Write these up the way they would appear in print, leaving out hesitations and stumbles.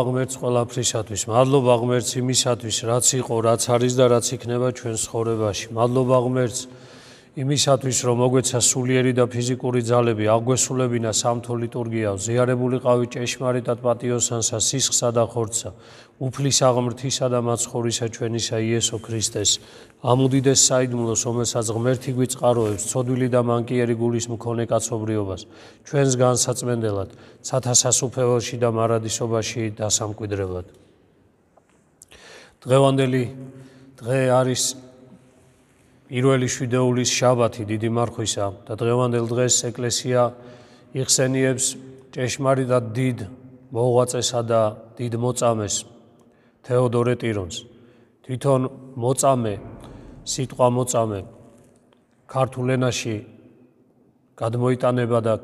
ღმერთს ყველაფრისათვის, მადლობა ღმერთს იმისათვის, რაც იყო, რაც არის და რაც იქნება ჩვენს ცხოვრებაში. მადლობა ღმერთს იმისათვის, რომ მოგვეცა სულიერი და ფიზიკური ძალები, აგვესულებინა სამთო ლიტურგიაო, ზიარებული ყავი ჭეშმარიტად პატიოსანსა, სისხლსა და ხორცსა, უფლისა ღმრთისა და მაცხოვრისა ჩვენისა იესო ქრისტეს, ამ უდიდეს საიდუმლოს, რომელსაც ღმერთი გვიწყაროებს, ცოდვილი და მანკიერი გულის მქონე კაცობრიობას, ჩვენს განსაწმენდელად, ცათა სასუფეველში და მარადისობაში დასამკვიდრებლად. დღევანდელი დღე არის პირველი შვიდეულის შაბათი დიდი მარხვისა და დღევანდელ დღეს ეკლესია იხსენიებს ჭეშმარიტად დიდ მოღვაწესა და დიდ მოწამეს თეოდორე ტირონს. თვითონ მოწამე, სიტყვა მოწამე ქართულ ენაში გადმოიტანება და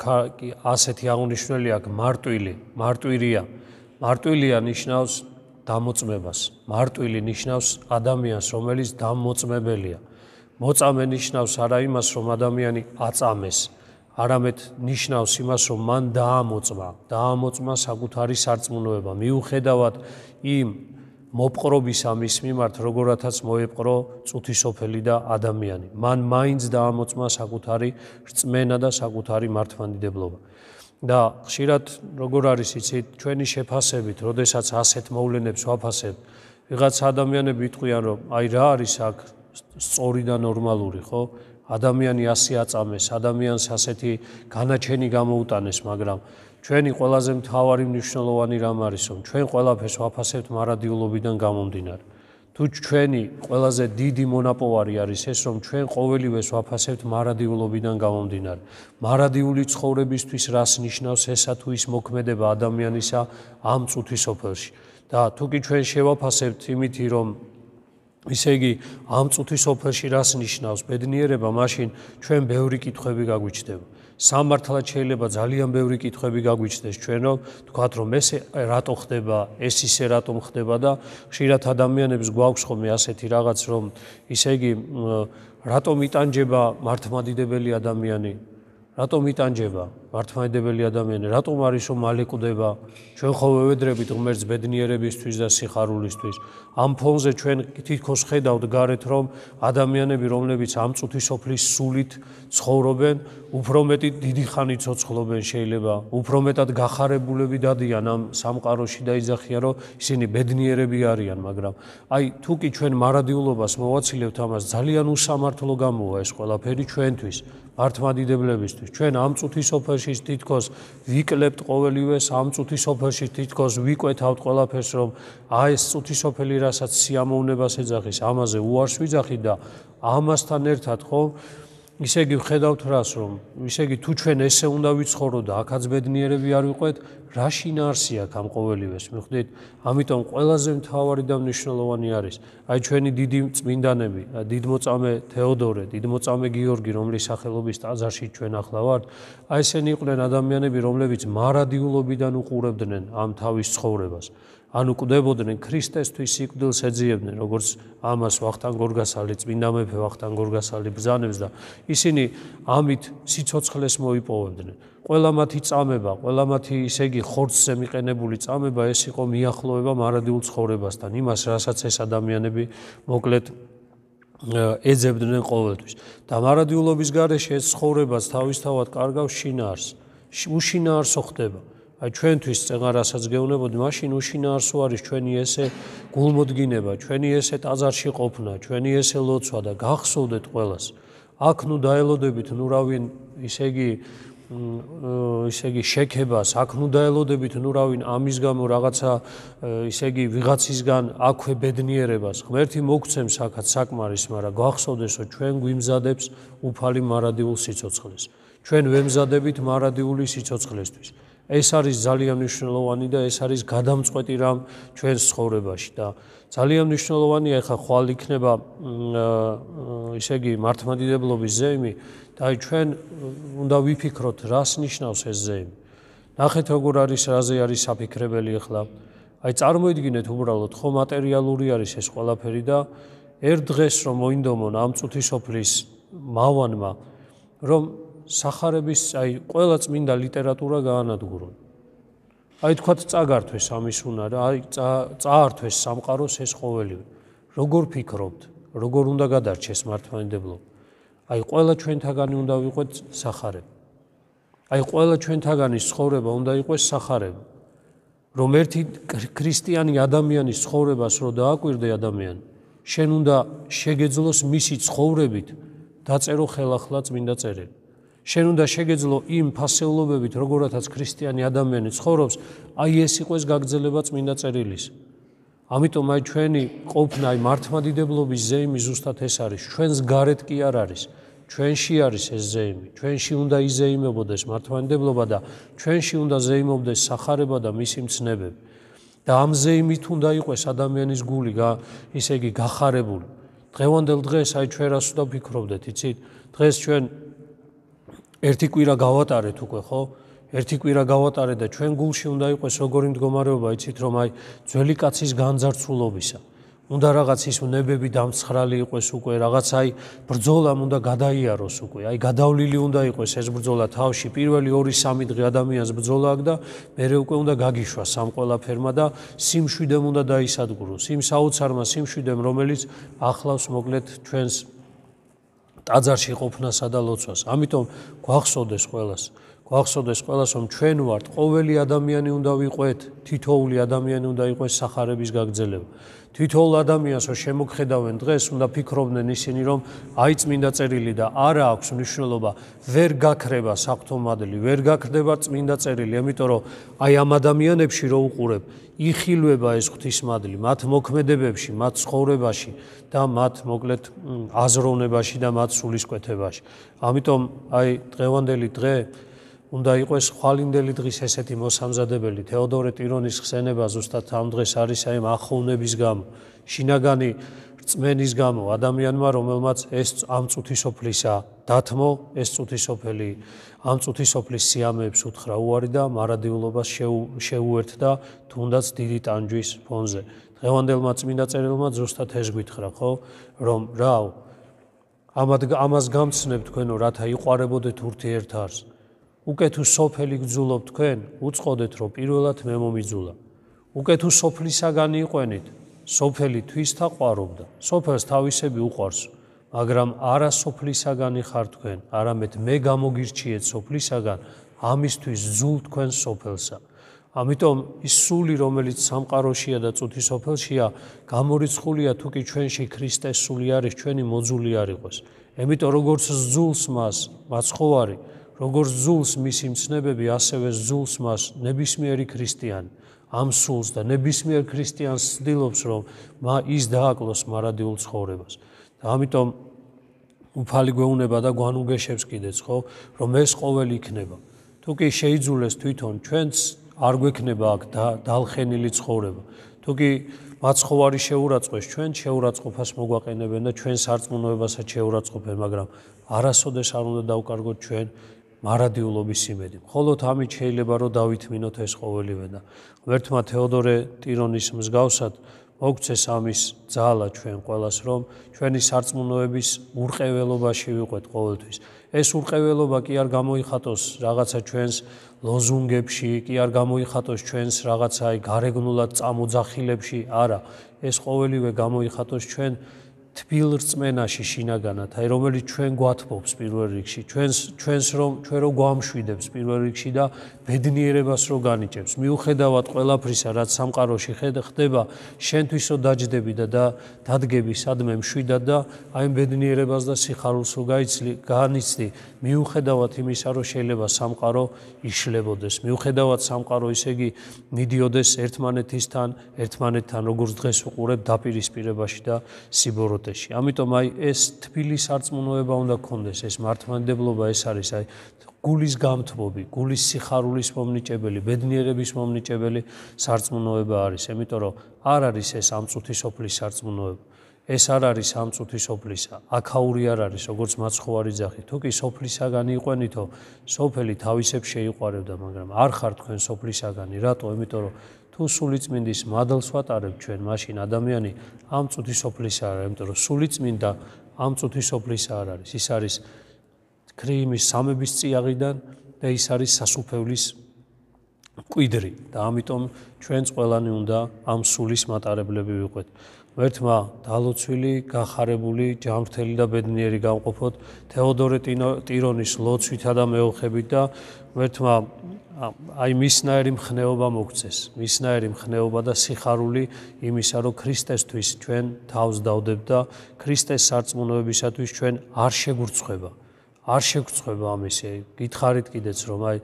ასეთი აღნიშნული აქვს მარტვილი, მარტვირია. მარტვილია ნიშნავს დამოწმებას. მარტვილი ნიშნავს ადამიანს, რომელიც დამოწმებელია. მოწამე ნიშნავს არა იმას, რომ ადამიანი აწამეს, არამედ ნიშნავს იმას, რომ მან დაამოწმა საკუთარი სარწმუნოება, მიუხედავად იმ მოპყრობისა მის მიმართ, როგორათაც მოეპყრო წუთისოფელი და ადამიანი. მან მაინც დაამოწმა საკუთარი რწმენა და საკუთარი მართლმადიდებლობა. და ხშირად როგორ არის იცით, ჩვენი შეფასებით, როდესაც ასეთ მოვლენებს ვაფასებთ, ვიღაც ადამიანები იტყვიან, რომ აი რა არის აქ სწორი და ნორმალური, ხო? ადამიანი ასე აწამეს, ადამიანს ასეთი განაჩენი გამოუტანეს, მაგრამ ჩვენი ყველაზე მთავარი მნიშვნელოვანი რამ არის, რომ ჩვენ ყველაფერს ვაფასებთ მარადიულობიდან გამომდინარე. თუ ჩვენი ყველაზე დიდი მონაპოვარი არის ეს, რომ ჩვენ ყოველივეს ვაფასებთ მარადიულობიდან გამომდინარე. მარადიული ცხოვრებისთვის რას ნიშნავს ესა თუ ის მოქმედება ადამიანისა ამ წუთისოფელში. და თუ კი ჩვენ შევაფასებთ იმითი, რომ ისე იგი ამ წუთისოფელში რას ნიშნავს ბედნიერება, მაშინ ჩვენ ბევრი კითხვები გაგვიჩნდება. სამართლად შეიძლება ძალიან ბევრი კითხვები გაგვიჩნდეს ჩვენ, რომ თქვათ, რომ ეს რატო ხდება, ეს ისე რატომ ხდება და ხშირად ადამიანებს გვაქვს ხოლმე ასეთი რაღაც, რომ ისე იგი რატომ იტანჯება მართლმადიდებელი ადამიანი, რატომ იტანჯება მართლმადიდებელი ადამიანი, რატომ არის რომ მალე კვდება, ჩვენ ხოლმე ვედრებით ღმერთს ბედნიერებისთვის და სიხარულისთვის. ამ ფონზე ჩვენ თითქოს ხედავთ გარეთ, რომ ადამიანები, რომლებიც ამ წუთისოფლის სულით ცხოვრობენ, უფრო მეტი დიდი ხანი ცოცხლობენ შეიძლება, უფრო მეტად გახარებულები დადიან ამ სამყაროში და იძახიან, რომ ისინი ბედნიერები არიან, მაგრამ აი თუ კი ჩვენ მარადიულობას მოვაცილებთ ამას, ძალიან უსამართლო გამოვა ეს ყველაფერი ჩვენთვის, მართლმადიდებლებისთვის. ჩვენ ამ წუთისოფელში თითქოს ვიკლებთ ყოველივეს, ამ წუთისოფელში თითქოს ვიკვეთავთ ყველაფერს, რომ ეს წუთისოფელი რასაც სიამოვნებას ეძახის, ამაზე უარს ვიძახით და ამასთან ერთად ხო ისე იგი ვხედავთ რას, რომ ისე იგი თუ ჩვენ ესე უნდა ვიცხოვროთ და აქაც ბედნიერები არ ვიყვეთ, რა შინაარსი აქვს ამ ყოველივეს, მიხვდით? ამიტომ ყველაზე მთავარი და მნიშვნელოვანი არის აი ჩვენი დიდი წმინდანები, დიდმოწამე თეოდორე, დიდმოწამე გიორგი, რომლის სახელობის ტაძარში ჩვენ ახლა ვართ, აი ესენი იყვნენ ადამიანები, რომლებიც მარადიულობიდან უყურებდნენ ამ თავის ცხოვრებას. ანუ კვდებოდნენ ქრისტესთვის სიკვდილს ეძიებდნენ, როგორც ამას ვახტანგ გორგასალი, წმინდა მეფე ვახტანგ გორგასალი ბრძანებს და ისინი ამით სიცოცხლეს მოიპოვებდნენ. ყველა მათი წამება, ყველა მათი ისე იგი ხორცზე მიყენებული წამება ეს იყო მიახლოება მარადიულ ცხოვრებასთან, იმას, რასაც ეს ადამიანები მოკლედ ეძებდნენ ყოველთვის. და მარადიულობის გარეშე ეს ცხოვრებას თავისთავად კარგავს შინაარსს. უშინაარსო ხდება. აი ჩვენთვის წეღარ რასაც გეუბნებოდი, მაშინ უშინაარსო არის ჩვენი ესე გულმოდგინება, ჩვენი ესე ტაძარში ყოფნა, ჩვენი ესე ლოცვა და გახსოვდეთ ყველას. აქ ნუ დაელოდებით ნუ რავინ ისე იგი შექებას, აქ ნუ დაელოდებით ნუ რავინ ამის გამო რაღაცა ისე იგი ვიღაცისგან აქვე ბედნიერებას. ღმერთი მოგცემს აქაც საკმარის, მაგრამ გახსოვდეს, რომ ჩვენ გვიმზადებს უფალი მარადიულ სიცოცხლეს. ჩვენ ვემზადებით მარადიული სიცოცხლესთვის. ეს არის ძალიან მნიშვნელოვანი და ეს არის გადამწყვეტი რამ ჩვენს ცხოვრებაში და ძალიან მნიშვნელოვანია ახლა ხვალ იქნება ისე იგი მართლმადიდებლობის ზეიმი და აი ჩვენ უნდა ვიფიქროთ რას ნიშნავს ეს ზეიმი. ნახეთ როგორ არის, რაზე არის საფიქრებელი ახლა. აი წარმოიდგინეთ უბრალოდ ხო მატერიალური არის ეს ყველაფერი და ერთ დღეს რომ მოინდომონ ამ წუთისოფლის მავანმა რომ სახარების აი ყველა წმინდა ლიტერატურა გაანადგურონ. აი თქვათ წაგართვეს ამის უნარა, აი წაართვეს სამყაროს ეს ყოველივე. როგორ ფიქრობთ, როგორ უნდა გადარჩეს მართლმადიდებლობა? აი ყველა ჩვენთაგანი უნდა ვიყოთ სახარება. აი ყველა ჩვენთაგანის ცხოვრება უნდა იყოს სახარება. რომ ერთი ქრისტიანი ადამიანის ცხოვრებას რო დააკვირდე ადამიანი, შენ უნდა შეგეძლოს მისი ცხოვრებით დაწერო ხელახლა წმინდა წერილი. შენ უნდა შეგეძლო იმ ფასეულობებით, როგორათაც ქრისტიანი ადამიანი ცხოვრობს, აი ეს იყოს გაგრძელება წმინდა წერილის. ამიტომ აი ჩვენი ყოფნა აი მართლმადიდებლობის ზეიმი ზუსტად ეს არის. ჩვენს გარეთ კი არ არის. ჩვენში არის ეს ზეიმი. ჩვენში უნდა იზეიმებოდეს მართლმადიდებლობა და ჩვენში უნდა ზეიმობდეს სახარება და მისი მცნებები. და ამ ზეიმით უნდა იყოს ადამიანის გული, ისე იგი გახარებული. დღევანდელ დღეს აი ჩვენ რას უნდა ვფიქრობდეთ, იცით? დღეს ჩვენ ერთი კვირა გავატარეთ უკვე, ხო? ერთი კვირა გავატარეთ და ჩვენ გულში უნდა იყოს როგორი მდგომარეობა, იცით, რომ აი ძველი კაცის განძარცულობისა. უნდა რაღაც ის ნებები დამცხრალი იყოს უკვე, რაღაც აი ბრძოლამ უნდა გადაიაროს უკვე. აი გადავლილი უნდა იყოს ეს ბრძოლა თავში. პირველი 2-3 დღე ადამიანს ბრძოლა აქვს და მერე უკვე უნდა გაგიშვას ამ ყველაფერმა და სიმშვიდემ უნდა დაისადგუროს. იმ საოცარმა სიმშვიდემ, რომელიც ახლავს მოკლედ ჩვენს ტაძარში ყოფნასა და ლოცვას. ამიტომ გვახსოვდეს ყველას, რომ ჩვენ ვართ, ყოველი ადამიანი უნდა ვიყვეთ, თითოეული ადამიანი უნდა იყოს სახარების გაგრძელება. თითოეულ ადამიანს რო შემოგხედავენ დღეს, უნდა ფიქრობდნენ ისინი, რომ აი წმინდა წერილი და არა აქვს მნიშვნელობა, ვერ გაქრება საღვთო მადლი, ვერ გაქრდება წმინდა წერილი, ამიტომ რომ აი ამ ადამიანებში რო უყურებ, იხილვება ეს ღვთისმადლი, მათ მოქმედებებში, მათ ცხოვრებაში და მათ მოკლედ აზროვნებაში და მათ სულისკვეთებაში. ამიტომ აი დღევანდელი დღე უნდა იყოს ხვალინდელი დღის ესეთი მოსამზადებელი. თეოდორე ტირონის ხსენება ზუსტად ამ დღეს არის აი ახოვნების გამო, შინაგანი რწმენის გამო ადამიანმა, რომელმაც ეს ამ წუთისოფლისა დათმო, ეს წუთისოფელი ამ წუთისოფლის სიამეებს უთხრა უარი და მარადიულობას შეუერთდა თუნდაც დიდი ტანჯვის ფონზე. დღევანდელმა წმინდა წერილმა ზუსტად ეს გითხრა, ხო, რომ რაო ამას გამცნებ თქვენო, რათა იყვარებოდეთ ურთიერთარს. უკვე თუ სოფელი გძულობ თქვენ, უწყოდეთ, რომ პირველად მე მომიძულა. უკვე თუ სოფლისაგანი იყვენით, სოფელი თვისთა ყვარობდა. სოფელს თავისები უყვარს, მაგრამ არა სოფლისაგანი ხარ თქვენ, არამედ მე გამოგირჩიეთ სოფლისაგან, ამისთვის ძულ თქვენ სოფელსა. ამიტომ ის სული, რომელიც სამყაროშია და წუთის სოფელშია, გამორიცხულია თუ კი ჩვენში ქრისტეს სული არის, ჩვენი მოძული არ იყოს. ამიტომ როგორც ძულს მას მაცხოვარი, როგორც ძულს მისი მცნებები, ასევე ძულს მას ნებისმიერი ქრისტიანი. ამ სულს და ნებისმიერ ქრისტიანს ცდილობს, რომ ის დააკლოს მარადიულ ცხოვრებას. და ამიტომ უფალი გვეუბნება და გვანუგეშებს კიდეც, ხო, რომ ეს ყოველი იქნება. თუ კი შეიძულეს თვითონ ჩვენც არ გვექნება აქ დალხენილი ცხოვრება. თუ კი მაცხოვარი შეურაცხყვეს, ჩვენ შეურაცხყოფას მოგვაყენებენ და ჩვენ სარწმუნოებასაც შეურაცხყოფენ, მაგრამ არასოდეს არ უნდა დავკარგოთ ჩვენ მარადიულობის იმედი. მხოლოდ ამით შეიძლება რომ დავითმინოთ ეს ყოველივე და ღმერთმა თეოდორე ტირონის მსგავსად მოგცეს ამის ძალა ჩვენ ყველას, რომ ჩვენი სარწმუნოების ურყეველობაში ვიყვეთ ყოველთვის. ეს ურყეველობა კი არ გამოიხატოს რაღაცა ჩვენს ლოზუნგებში, კი არ გამოიხატოს ჩვენს რაღაცა გარეგნულად წამოძახილებში, არა, ეს ყოველივე გამოიხატოს ჩვენ თბილ რწმენაში შინაგანად, აი რომელიც ჩვენ გვათბობს პირველ რიგში, ჩვენ რომ გვამშვიდებს პირველ რიგში და ბედნიერებას რო განიჭებს. მიუხედავად ყველაფრისა, რაც სამყაროში ხდება, შენთვისო დაჯდები და დადგები სადმე მშვიდად და აი ბედნიერებას და სიხარულს რო განიცდი, მიუხედავად იმისა, რომ შეიძლება სამყარო იშლებოდეს, მიუხედავად სამყარო ისე იგი მიდიოდეს ერთმანეთთან, როგორც დღეს ვუყურებ დაპირისპირებაში და სიბოროტეში. ამიტომ აი ეს თბილი სარწმუნოება უნდა გქონდეს, ეს მართლმადიდებლობა ეს არის აი გულის გამთბობი, გულის სიხარულის მომნიჭებელი, ბედნიერების მომნიჭებელი სარწმუნოება არის. ამიტომ რომ არ არის ეს ამ წუთის სოფლის სარწმუნოება. ეს არ არის ამ წუთის სოფლისა, აქაური არ არის, როგორც მაცხოვარი ძაღი. თუ კი სოფლისაგანი იყვენითო, სოფელი თავისებ შეიყვარებდა, მაგრამ არ ხარ თქვენ სოფლისაგანი. რატო? ამიტომ რომ თუ სულიწმინდის მადლს ვატარებ ჩვენ, მაშინ ადამიანი ამ წუთის სოფლისა არ არის, ამიტომ რომ სულიწმინდა ამ წუთის სოფლისა არ არის. ის არის ქრიიმის სამების წიაღიდან და ის არის სასუფევლის მკვიდრი და ამიტომ ჩვენც ყველანი უნდა ამ სულის მატარებლები ვიყვეთ. ღმერთმა დალოცვილი, გახარებული, ჯანმრთელი და ბედნიერი გამყოფოთ თეოდორე ტირონის ლოცვითა და მეოხებით და ღმერთმა აი მისნაირი მხნეობა მოგცეს, მისნაირი მხნეობა და სიხარული იმისა, რომ ქრისტესთვის ჩვენ თავს დავდებთ და ქრისტეს სარწმუნოებისათვის ჩვენ არ შეგვრცხვება ამისი. გითხარით კიდეც რომ აი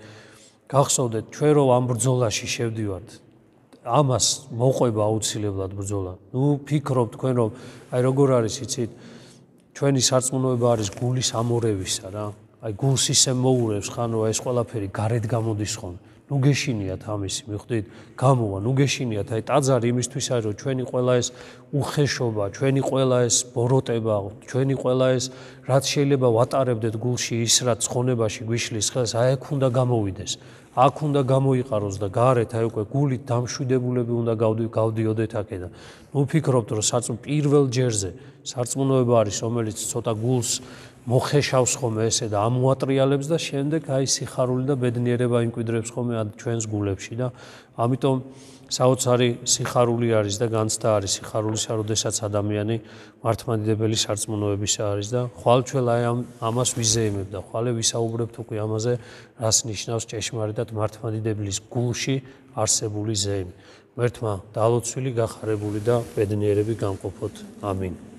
გახსოვდეთ ჩვენ რომ ამ ბრძოლაში შევდივართ, ამას მოყვება აუცილებლად ბრძოლა. ფიქრობ თქვენ რომ აი როგორ არის იცით, ჩვენი სარწმუნოება არის გულის ამორევისა რა. აი გულს ისე მოურევს ხანო ეს ყველაფერი გარეთ გამოდის ხომ. გეშინიათ ამისი, მიხვდით? გამოვა, გეშინიათ აი ტაძარი იმისთვის არის რომ ჩვენი ყველა ეს უხეშობა, ჩვენი ყველა ეს ბოროტება, ჩვენი ყველა ეს რაც შეიძლება ვატარებდეთ გულში ის რაც ცხონებაში გვიშლის ხელს, აი აქ უნდა გამოვიდეს. აქ უნდა გამოიყაროს და გარეთ აი უკვე გულით დამშვიდებულები უნდა გავდიოდეთ აქედან. ვფიქრობთ რომ პირველ ჯერზე სარწმუნოება არის რომელიც ცოტა გულს მოხეშავს ხოლმე ესე და ამოატრიალებს და შემდეგ აი სიხარული და ბედნიერება იმკვიდრებს ხოლმე ჩვენს გულებში და ამიტომ საოცარი სიხარული არის და განცდა არის სიხარულისა, როდესაც ადამიანი მართლმადიდებელი სარწმუნოებისა არის და ხვალ-ჩველ აი ამას ვიზეიმებ და ხვალე ვისაუბრებთ უკვე ამაზე, რას ნიშნავს ჭეშმარიტად მართლმადიდებლის გულში არსებული ზეიმი. ღმერთმა დალოცვილი, გახარებული და ბედნიერები გამყოფოთ. ამინ.